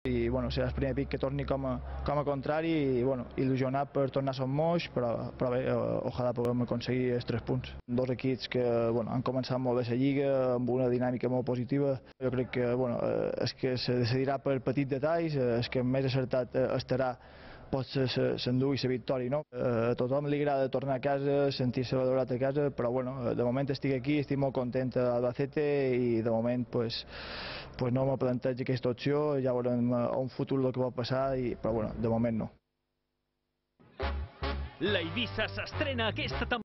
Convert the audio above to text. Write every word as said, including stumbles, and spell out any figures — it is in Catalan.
i bueno, serà el primer pic que torni com a, com a contrari i bueno, il·lusionat per tornar a Son Moix, però, però bé, ojalà puguem aconseguir els tres punts. Dos equips que bueno, han començat molt bé la Lliga, amb una dinàmica molt positiva. Jo crec que bueno, és que se decidirà per petits detalls, és que més acertat estarà potser s'endugui la victòria. No? A tothom li agrada tornar a casa, sentir-se valorat a casa, però bueno, de moment estic aquí, estic molt content a Albacete i de moment pues, pues no me plantejo aquesta opció, ja veurem a un futur el que pot passar, i, però bueno, de moment no. La Eivissa s'estrena aquesta temporada.